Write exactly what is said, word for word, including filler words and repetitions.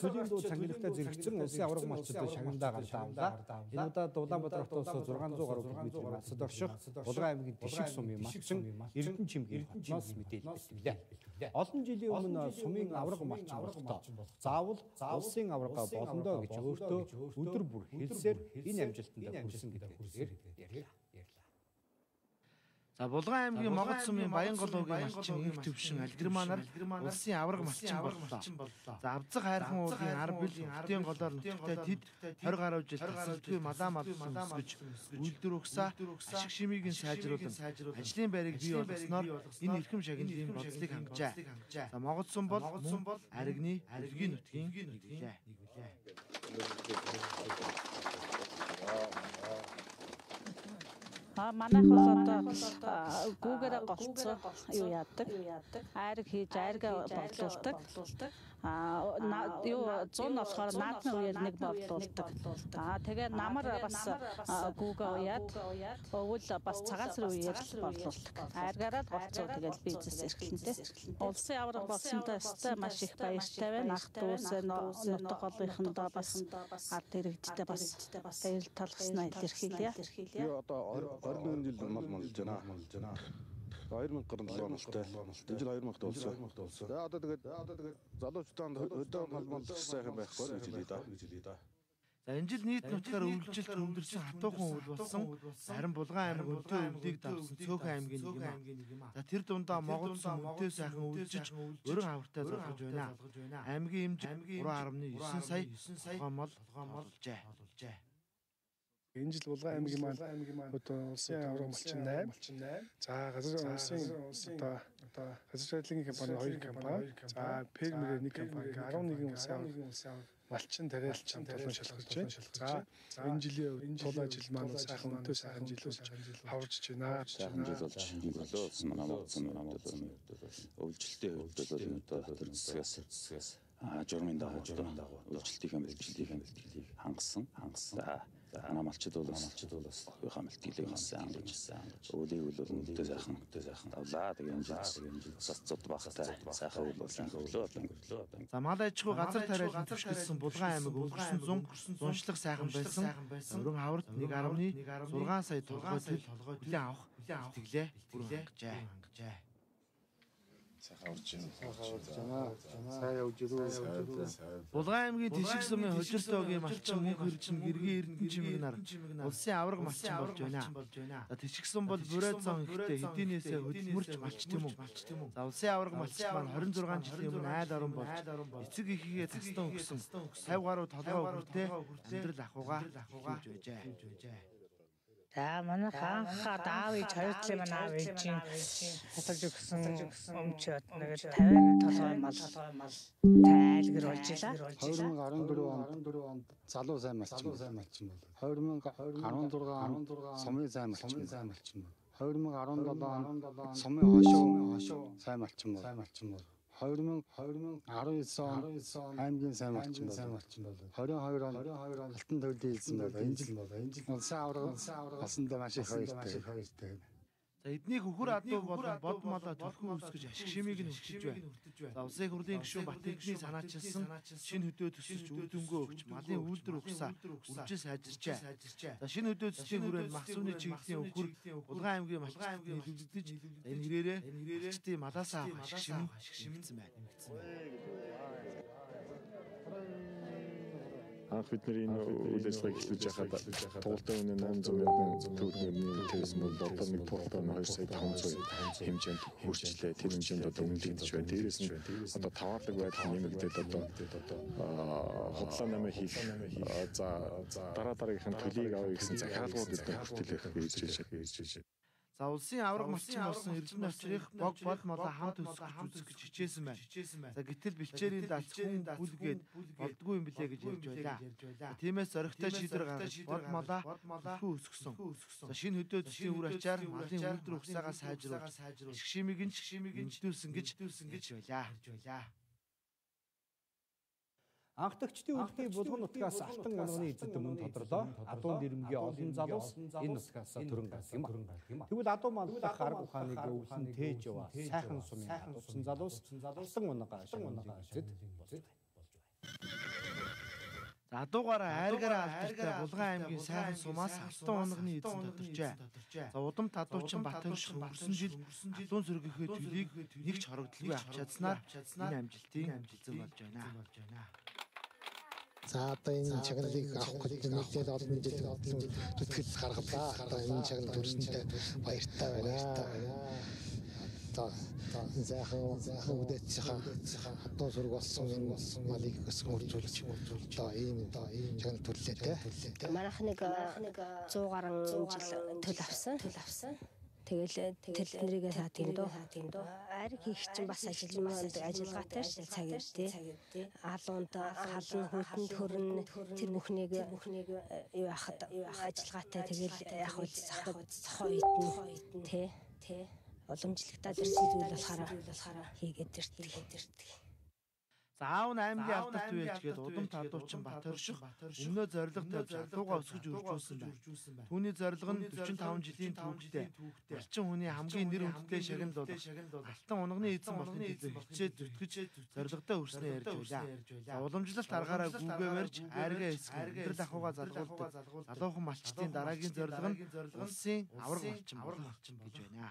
төлийн дуу цангилгатай зэрэгцэн улсын авраг малчдад шагнандаа гардаа. Энэ удаад Улаанбаатар хотоос зургаан зуун гаруй километрийн насад орших Булган аймгийн Тишиг сумын малчин Эрдэнэ чимгийн хотноос мэдээлэл бэлтгэлээ. Олон жилийн өмнө сумын авраг малчин болохдоо заавал улсын аврага болондоо гэж өөртөө өдөр бүр хэлсээр энэ амжилтанд хүрсэн гэдгээр ярьлаа. За Булган аймгийн Могод сумын Баянголоогийн малчин инх төвшин Алгерманаар улсын авраг малчин боллоо. За Авзаг хайрхан уулын ард бил хотын голоор нутагтай тэд тойр гаруй жил тасалдгүй малаа малсан өсгөж үйлдвэр угсаа ашиг шимийг нь сайжруулан ажлын байрыг бий болгосноор энэ эрхэм шагналын бодлыг хангажээ. За Могод сум бол аригны аргийн нутгийн нэгүлээ. А манайх бол одоо Google-ээр голцоо юу яадаг. Айраг хийж айргаа борлуулдаг. А юу зүүн болохоор наадмын үеэр нэг борлуулдаг. А тэгээ намар бас Google уяад өвөл бас цагаан сар үеэр борлуулдаг. Айргаараа голцоо тэгэл бизнес эрхлэнтэй. Улсын авраг болсонтой өстой маш их баяртай байна. Ах дүүсээ нутаг голынхондоо бас ард иргэдтэй бас баяр талхснаа илэрхийлье. Юу одоо орон жил мал малж байна. хоёр мянга гаруй настай. Энэ жил хоёр мянга болсон. За одоо тэгээд залуучуудаа өдөө мал малж сайхан байхгүй гэж хэлээ да. За энэ жил нийт нутгаар өвлжилт өндөрсөн хатуухан үйл болсон. Харин Булган аймаг өнтөө өвлийг давсан Цөөхөн аймгийн нэг юм. За тэр дундаа Могод сум өнтөө сайхан өвлжиж өргөн хавртай залгаж байна. Аймгийн хэмжээ три гаруй девять сая тухайн мал олжээ. Энэ жил Булган аймгийн маань одоо улсын авраг малчин восемь. За газар улсын одоо газар судлалын компани хоёр компани. За фермерээр нэг компани eleven улсын авраг малчин тариалчин толон шалгаж байна. За энэ жилийн тулаа жил маань сайхан өнтөө сайхан жил болж хаварч байна. Сайхан жил болж өнгөлөө манай Могодсон Могодсон өвлжилтийн хувьд бол одоо хатар засгаас а журмын дагуу өвлжилтийн бэлтгэлийг бэлтгэлийг хангасан. За манай малчид бол малчид бол бас оюухан бэлтгэлийг хангасан гэж өвлийг бол өнтөө сайхан өнтөө сайхан давлаа. Тэгээ энэ жил бас цод багтай сайхан үйл болсон өглөө өнгөрлөө. За мал аж ахуй газар тариалан төвшгөлсөн Булган аймаг өнгөрсөн зун зуншлах сайхан байсан. Өргөн хаврт нэг гаруй сix сая толгой төл хүлээн авах итгэлээ хүргэнжээ. Сайхан урж байна. Сайн явж ирүү. Булган аймгийн Тишиг сумын Хожиртоогийн малчин мөнх хөрчин гэргийн Эрдэнэ чимэг нар улсын авраг малчин болж байна. За Тишиг сум бол Бурайд цон ихтэй хэдийнээсээ хөдөлмөрч малч тийм үү. За улсын авраг малчин маань twenty six жилийн өмнө айл орон болж эцэг ихийгээ тастан өгсөн fifty гаруй толгой хүртээ амьдрал ахуйгаа хийж байжээ. За манай хаанхаа даав ээж хоёр талын манай аав ээжийн хасаж өгсөн өмчөд нэг fifty толгой мал тайлгэр болж илаа. twenty fourteen онд залуу сайн малчин бол twenty sixteen сумын сайн малчин бол twenty seventeen сумын хошоо сайн малчин бол twenty nineteen аймгийн сайн малчин бол twenty-two он алтан төлөв хэлсэн бол энэ жил улсын авраг басандаа маш их баяртай. За эднийг хөхөр адуу болон бод малаа төлхөн үсгэж ашиг шимийг нь хүртэж байна. За улсын хурлын гишүүн Батэдний санаачилсан шинэ хөдөө төсөлж үр дүнгөө өгч малын үйлдвэр угсаа үржил сайжирчээ. За шинэ хөдөө төслийн хүрээнд махсууны чиглэлийн хөхөр Булган аймгийн малчид нийлүүлэгдэж энэ хэрээрээ малчдын малаасаа ашиг шим нэмэгдсэн байна. Анх бид нар энэ үйл ажиллагааг эхлүүлж байхад туултын үнэ eight hundred мянган төгрөгийн төлсөн бол одоо нэг туултын two сая five hundred хэмжээнд хүрчлээ. Тэр хэмжээнд одоо үнэлэгдэж байна. Дээрээс нь одоо таваарлаг байдал нэмэгдээд одоо худлаа намаа хийх за дараа дараагийнхын төлийг авъя гэсэн захиалгууд эдгээр хүртэлэх гэж ирж байна. За улсын авраг малчин болсон Эрдэнэ очрыг бог бол молоо хамт өсгөж үзэх гэж хичээсэн байна. За гэтэл бэлчээрийн дац хүн бүлгээд болдгүй юм блэ гэж ярьж байлаа. Тиймээс зоригтой шийдвэр гаргаж бод молоо хүү өсгсөн. За шинэ хөдөө төслийн үр ачаар малын үйлдвэр угсаагаа сайжруулж ашиг шимийг нь нэмэгдүүлсэн гэж хэлж байлаа. Анхдагчдын үлдээ Булган нутгаас алтан онооны эзэд өмнө тодорлоо. Адуун нэрмгийн олон залуус энэ нутгаас төрөн гарсан юм. Тэгвэл адуу маллах арга ухааныг өвлөн тээж яваа сайхан сумын хатуусан залуус алтан оноо гашин эзэд болж байна. За адуугаараа айргаараа алдартай Булган аймгийн сайхан сумаас алтан унганы эзэн тодорчээ. За удамт адуучин Батөрших өнгөрсөн жил адуун сөргийнхээ төлийг нэг ч хорогдлгүй авч чадсанаар энэ амжилтын эзэн болж байна. За одоо энэ чаглалыг авах гэж нэлээд олон жил зүтгэл гаргалаа. Одоо энэ чаглал төрсөндөө баяртай байна. Одоо энэ заахан заахан үдээт цаха хатуу сург болсон энэ малыг өсгөн үржүүлж одоо ийм одоо ийм чаглал төрлөө те. Манайх нэг сто гаруй жил төл авсан. Төл авсан. Тэгэл тэл нэрийгээ саа тийм дөө. Ариг хийх чинь бас ажилламанд ажиллагаатай ш цаг ирдээ. Алуунд халан хөтөнд хөрн тэр бүхнийг юу яхад ажиллагаатай тэгэл яг үзсах хойдн тэ тэ уламжлагтаа дэрсэн зүйл болохоор хийгээд ирдэг. За аав аймгийн алдарт үеичгээд удамт адуучин Батөрших өмнөө зорилго тавьж адуугаа өсгөж үржүүлсэн байна. Түүний зорилго нь дөрвөн таван жилийн түүхтэй малчин хүний хамгийн нэр хүндтэй шагнал бол алтан унганы эзэн болохын төлөө хичээд зүтгэж зорилготой өрснөө ярьж байлаа. За уламжлалт аргаараа гүгээ барьж айргаа эсгэн өдөр дахууга залгуулдаг. Залуухан малчтын дараагийн зорилго нь улсын авраг малчин болох гэж байна.